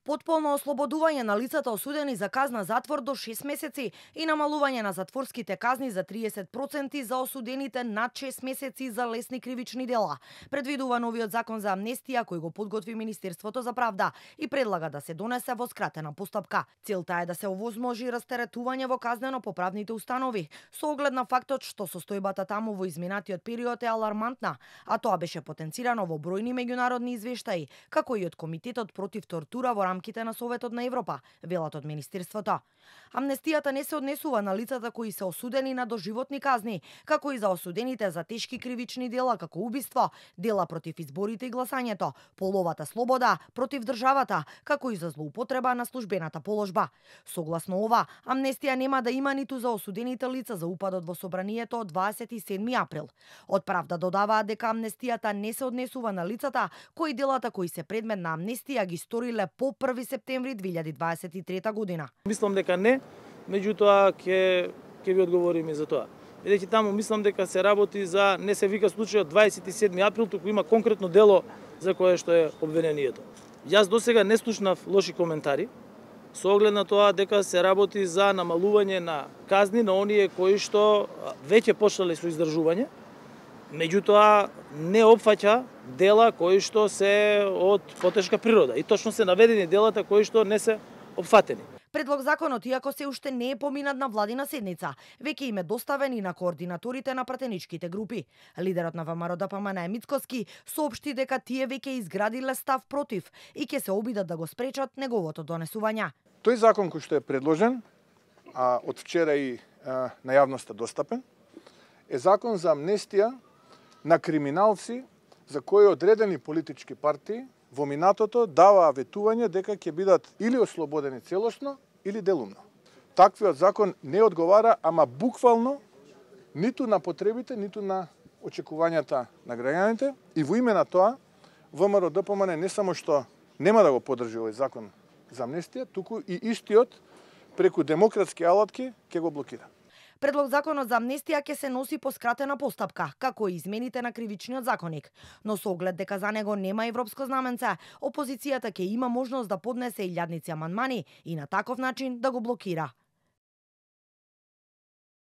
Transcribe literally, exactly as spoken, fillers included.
Потполно ослободување на лицата осудени за казна затвор до шест месеци и намалување на затворските казни за триесет проценти за осудените над шест месеци за лесни кривични дела. Предвидува новиот закон за амнестија кој го подготви Министерството за правда и предлага да се донесе во скратена постапка. Целта е да се овозможи растеретување во казнено-поправните установи, со оглед на фактот што состојбата таму во изминатиот период е алармантна, а тоа беше потенцирано во бројни меѓународни извештаи, како и од Комитетот против тортура во рамките на Советот на Европа, велат од Министерството. Амнестијата не се однесува на лицата кои се осудени на доживотни казни, како и за осудените за тешки кривични дела како убиство, дела против изборите и гласањето, половата слобода, против државата, како и за злоупотреба на службената положба. Согласно ова, амнестија нема да има ниту за осудените лица за упадот во собранието од дваесет и седми април. Од правда додаваат дека амнестијата не се однесува на лицата кои делата кои се предмет на амнестија ги сториле по први септември две илјади дваесет и трета година. Мислам дека не, меѓутоа ќе ќе ви одговориме за тоа. Бидејќи таму мислам дека се работи за не се вика случајот дваесет и седми април, туку има конкретно дело за кое што е обвинението. Јас досега не слушнав лоши коментари со оглед на тоа дека се работи за намалување на казни на оние кои што веќе почнале со издржување, меѓутоа не опфаќа дела кои што се од потешка природа и точно се наведени делата кои што не се опфатени. Предлог законот, иако се уште не е поминат на владина седница, веќе им е доставен и на координаторите на пратеничките групи. Лидерот на ВМРО-ДПМН Мицкоски соопшти дека тие веќе изградиле став против и ќе се обидат да го спречат неговото донесување. Тој закон кој што е предложен, а од вчера и а, на јавноста достапен, е закон за амнестија на криминалци за кои одредени политички партии во минатото даваа ветување дека ќе бидат или ослободени целосно или делумно. Таквиот закон не одговара, ама буквално, ниту на потребите, ниту на очекувањата на граѓаните, и во име на тоа ВМРО-ДПМН не само што нема да го поддржи овој закон за амнестија, туку и истиот преку демократски алатки ќе го блокира. Предлог законот за амнестија ќе се носи по скратена постапка, како и измените на кривичниот законник. Но со оглед дека за него нема европско знаменце, опозицијата ќе има можност да поднесе илјадници амандмани и на таков начин да го блокира.